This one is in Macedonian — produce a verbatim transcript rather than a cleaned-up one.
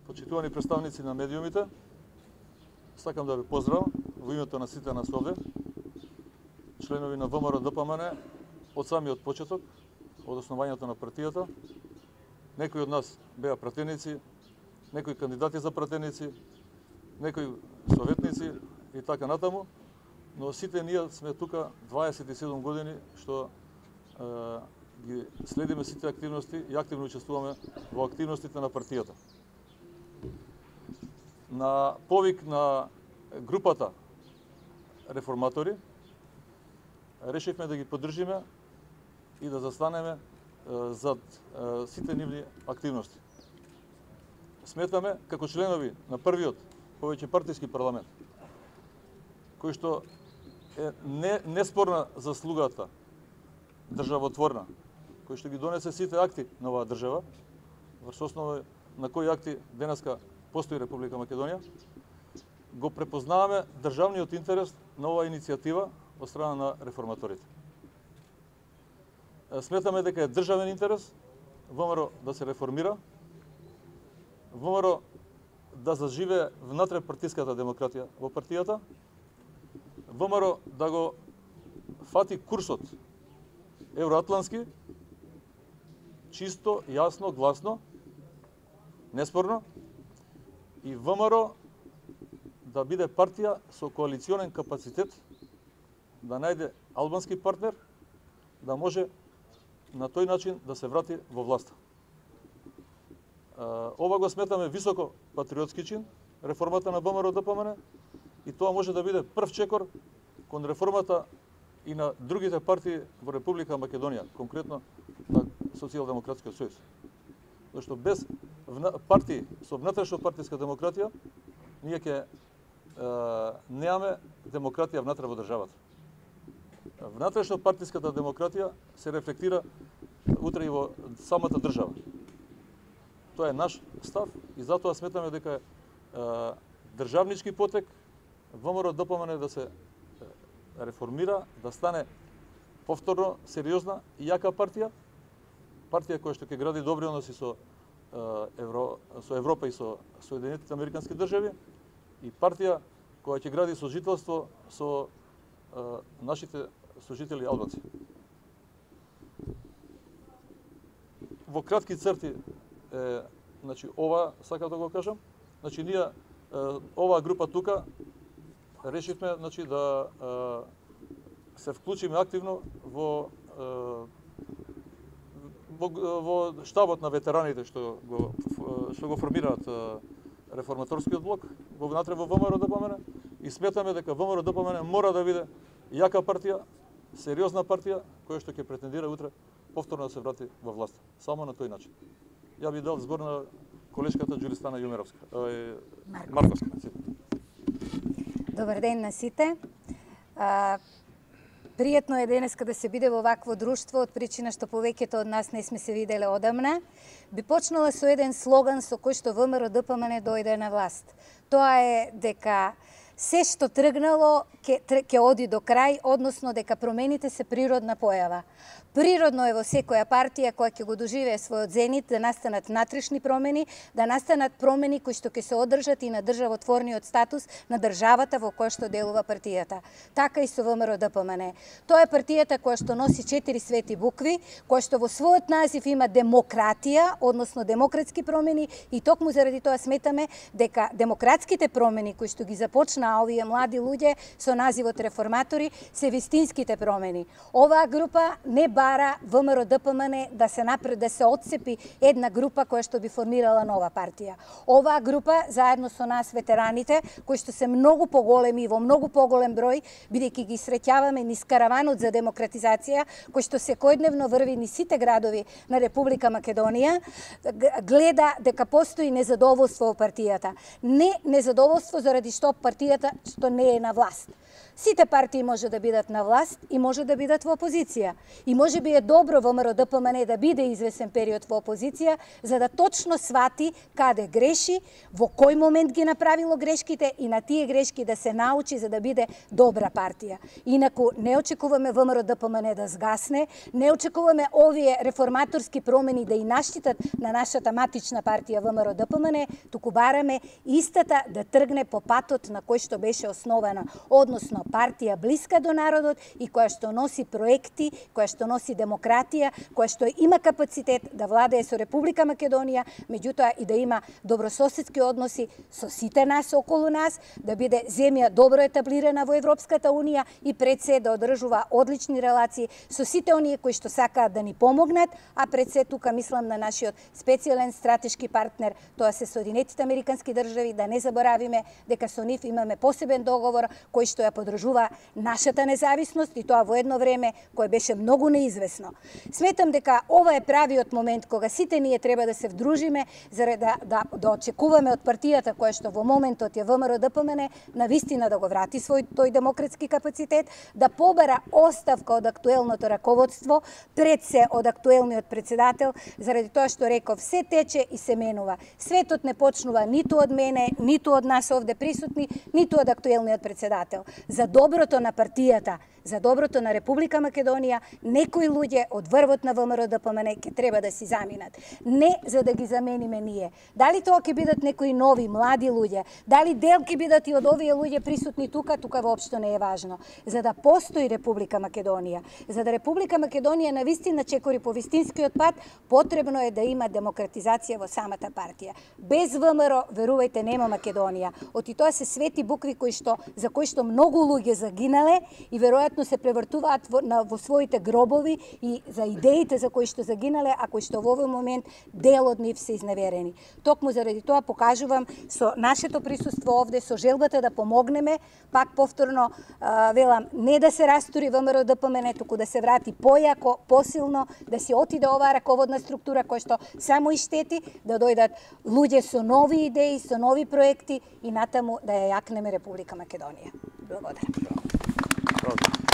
почитувани представници на медиумите, сакам да ви поздравам во името на сите нас овде, членови на ВМРО Д П М Н, од самиот почеток, од основањето на партијата. Некои од нас беа пратеници, некои кандидати за пратеници, некои советници и така натаму, но сите ние сме тука дваесет и седум години што е, ги следиме сите активности и активно учествуваме во активностите на партијата. На повик на групата реформатори решивме да ги поддржиме и да застанеме е, зад е, сите нивни активности. Сметаме како членови на првиот повеќе партиски парламент, кој што е не, неспорна заслугата државотворна, кој што ги донесе сите акти на оваа држава, врз основа на кои акти денеска постои Република Македонија, го препознаваме државниот интерес на оваа иницијатива од страна на реформаторите. Сметаме дека е државен интерес ВМРО да се реформира, ВМРО да заживее внатре партиската демократија во партијата, ВМРО да го фати курсот евроатлански, чисто, јасно, гласно, неспорно, и ВМРО да биде партија со коалиционен капацитет, да најде албански партнер, да може на тој начин да се врати во власта. Ова го сметаме високо патриотски чин, реформата на ВМРО Д П М Н, и тоа може да биде прв чекор кон реформата и на другите партии во Република Македонија, конкретно на Социјалдемократскиот сојуз. Зашто без партии со внатрешно партиска демократија, ние ќе немаме демократија внатре во државата. Внатрешно партиската демократија се рефлектира утре и во самата држава. Тоа е наш став и затоа сметаме дека е државнички потек ВМРО Д П М Н да се реформира, да стане повторно сериозна и јака партија, партија која што ќе гради добри односи со Евро, со Европа и со Соединетите Американски држави, и партија која ќе гради сожителство со нашите сожители албанци. Во кратки црти е, значи, ова сакам да го кажам. Значи, ние оваа група тука решивме, значи, да е, се вклучиме активно во, е, во во штабот на ветераните што го што го формираат реформаторскиот блок во внатре во ВМРО Д П М Н, и сметаме дека ВМРО Д П М Н мора да биде јака партија, сериозна партија која што ќе претендира утре повторно да се врати во власт. Само на тој начин. Ја би дал збор на колешката Џулистана Јумеровска, е, Марковска. Добар ден на сите. А, пријатно е денеска да се биде во вакво друштво, од причина што повеќето од нас не сме се виделе одамна. Би почнала со еден слоган со кој што ВМРО Д П М Н дојде на власт. Тоа е дека се што тргнало ќе ќе оди до крај, односно дека промените се природна појава. Природно е во секоја партија која ќе го доживее својот зенит да настанат внатрешни промени, да настанат промени кои што ќе се одржат и на државотворниот статус на државата во која што делува партијата. Така и со ВМРО Д П М Н. Тоа е партијата која што носи четири свети букви, која што во својот назив има демократија, односно демократски промени, и токму заради тоа сметаме дека демократските промени кои што ги започнаа овие млади луѓе со називот реформатори се вистинските промени. Оваа група не бара ВМРО Д П М Н да се напред, да се отцепи една група која што би формирала нова партија. Оваа група заедно со нас ветераните, кои што се многу поголеми и во многу поголем број, бидејќи ги среќаваме низ караванот за демократизација, кој што секојдневно врви низ сите градови на Република Македонија, гледа дека постои незадоволство во партијата. Не незадоволство заради што партијата што не е на власт. Сите партии може да бидат на власт и може да бидат во опозиција. И може можеби е добро ВМРО Д П М Н да биде извесен период во опозиција, за да точно свати каде греши, во кој момент ги направило грешките и на тие грешки да се научи за да биде добра партија. Инаку не очекуваме ВМРО Д П М Н да сгасне, не очекуваме овие реформаторски промени да и наштитат на нашата матична партија ВМРО Д П М Н, туку бараме истата да тргне по патот на кој што беше основана, односно партија блиска до народот и која што носи проекти, која што носи демократија, која што има капацитет да владее со Република Македонија, меѓутоа и да има добрососедски односи со сите нас околу нас, да биде земја добро етаблирана во Европската Унија и пред се да одржува одлични релации со сите оние кои што сакаат да ни помогнат, а пред се тука мислам на нашиот специјален стратешки партнер, тоа се Соединетите Американски држави, да не заборавиме дека со нив имаме посебен договор кој што ја поддржува нашата независност и тоа во едно време кое беше многу неизвестно. Сметам дека ова е правиот момент кога сите ние треба да се вдружиме за да, да, да очекуваме од партијата која што во моментот е ВМРО Д П М Н на вистина да го врати свој тој демократски капацитет, да побара оставка од актуелното раководство, пред се од актуелниот председател, заради тоа што реков, се тече и се менува. Светот не почнува ниту од мене, ниту од нас овде присутни, ниту од актуелниот председател. За доброто на партијата, за доброто на Република Македонија, некои луѓе од врвот на ВМРО Д П М Н ќе треба да си заминат. Не за да ги замениме ние. Дали тоа ќе бидат некои нови, млади луѓе, дали дел ќе бидат и од овие луѓе присутни тука, тука воопшто не е важно. За да постои Република Македонија, за да Република Македонија на вистина чекори по вистинскиот пат, потребно е да има демократизација во самата партија. Без ВМРО, верувајте, нема Македонија. Оти тоа се свети букви кои што за кои што многу луѓе загинале и веројатно се превртуваат во, на, во своите гробови и за идеите за кои што загинале, а кои што во овој момент дел од нив се изневерени. Токму заради тоа покажувам со нашето присуство овде, со желбата да помогнеме, пак повторно а, велам, не да се растури ВМРО Д П М Н, туку да се врати појако, посилно, да се отиде оваа раководна структура која што само и штети, да дојдат луѓе со нови идеи, со нови проекти и натаму да ја јакнеме Република Македонија. Благодарам. Правда.